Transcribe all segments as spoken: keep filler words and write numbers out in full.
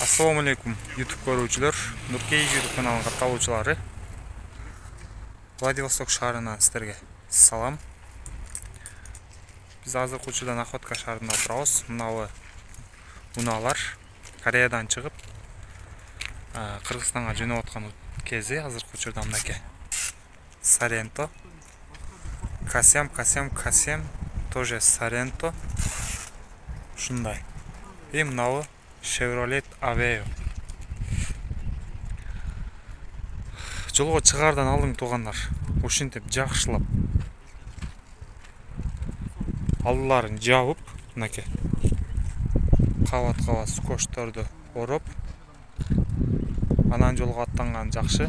Assalamu alaikum YouTube көрүүчүлөр, Нуркей YouTube каналынын катталуучулары. Владивосток шаарынан сиздерге салам. Биз азыркы учурда Находка шаарында турабыз. Мынабы унаалар Кореядан чыгып, Кыргызстанга жөнөп аткан кези азыркы учурда мынакей. Саренто, Касем, Касем, Касем, тоже Саренто. Ушундай. И мынабы Chevrolet Aveo. Жолго чыгардан алдың туугандар, ушинтип жакшылап алдыларын жабып, мынакей кабат-кабат скотчторду ороп, анан жолго аттанган жакшы.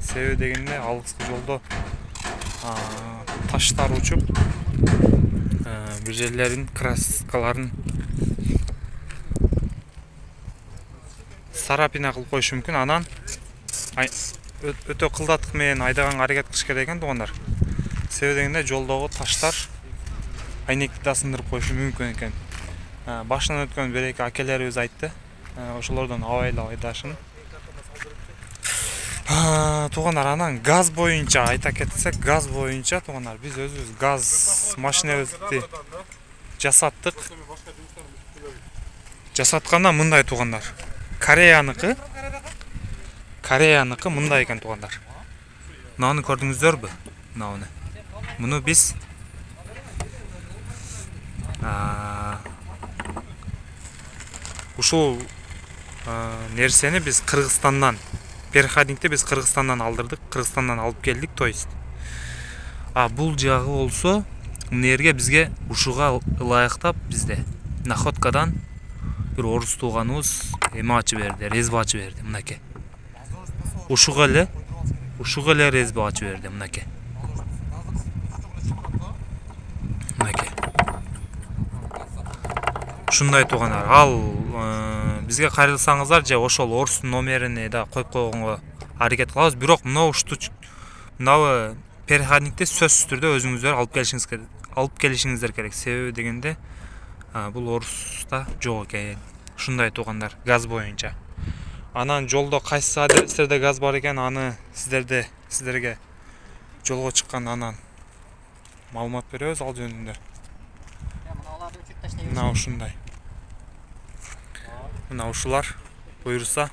Себеби дегенде алыскы жолдо таштар учуп, бир жерлерин краскаларын сарапина кылып коюшу мүмкүн. Анан өтө кылдаттык менен айдаганга аракет кылыш керек экен туугандар. Себеби дегенде жолдогу таштар айнекти да сындырып коюшу мүмкүн экен. Башынан өткөн бир эки акелерибиз айтты. Ошолордон абайлап айдашын. Туугандар, анан газ боюнча айта кетсек, газ боюнча туугандар, биз өзүбүз газ машинебизди жасаттык. Жасатканда мындай туугандар. Кореяныкы, Кореяныкы мындай экен туугандар. Мынаны көрдүңүздөрбү? Мынаны. Муну биз ушул нерсени биз Кыргызстандан, переходникти биз Кыргызстандан алдырдык, Кыргызстандан алып келдик, то есть. А бул жагы болсо, мына жерге бизге ушуга ылайыктап бизде Находкадан бир орус тууганыбыз эме ачып берди, резба ачып берди, мынакей. Ушуга эле, ушуга эле резба ачып берди, мынакей. Мынакей. Ушундай туугандар. Ал бизге кайрылсаңыздар, же ошол орустун номерине да коюп койгонго аракет кылабыз. Бирок мына ушту, мынабы переходникти сөзсүз түрдө өзүңүздөр алып келишиңиз керек, алып келишиңиздер керек. Себеби дегенде бул оруста жок экен. Ушундай туугандар, газ боюнча. Анан жолдо кайсы адрестерде газ бар экен, аны сиздерде сиздерге жолго чыкканда анан маалымат беребиз ал жөнүндө. Мына ушундай. Мына ушулар буйруса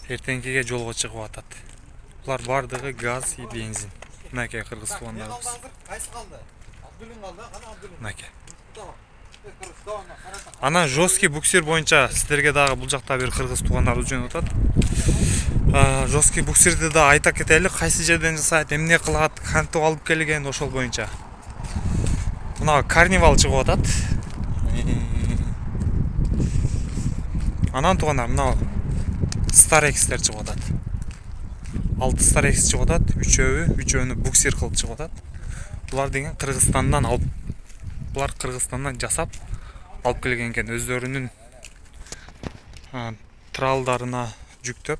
эртеңкиге жолго чыгып атат. Булар бардыгы газ и бензин. Мынакей кыргыз туугандарыбыз. Мынакей. Анан жесткий буксир боюнча сиздерге дагы бул жакта бир кыргыз туугандарыбыз жөнөп атат. Жесткий буксирди да айта кетели, кайсы жерден жасайт, эмне кылат, кантип алып келген, ошол боюнча. Мына карнивал чыгып атат. Анан туугандар, мына Старекстер чыгып атат. алты Старекс чыгып атат, үчөөнү, үчөөнү буксир кылып чыгып атат. Булар деген Кыргызстандан алып, булар Кыргызстандан жасап алып келген экен, өздөрүнүн тралдарына жүктөп,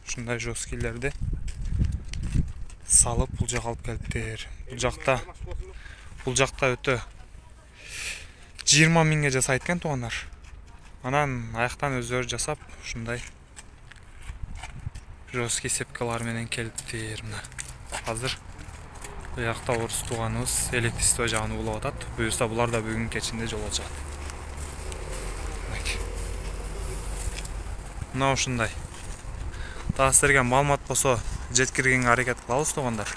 ушундай жесткилерди салып бул жака алып келиптир. Бул жакта, бул жакта өтө жыйырма миңге жасайт экен туугандар. Анан аяктан өздөрү жасап, ушундай жесткий сепкалар менен келиптир. Мына азыр бул жакта орус тууганыбыз электричество жагын улап атат. Буюрса булар да бүгүн кечинде жолго чыгат. Мына ушундай. Дагы сиздерге маалымат болсо жеткиргенге аракет кылабыз туугандар.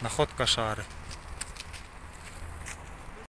Находка шаары.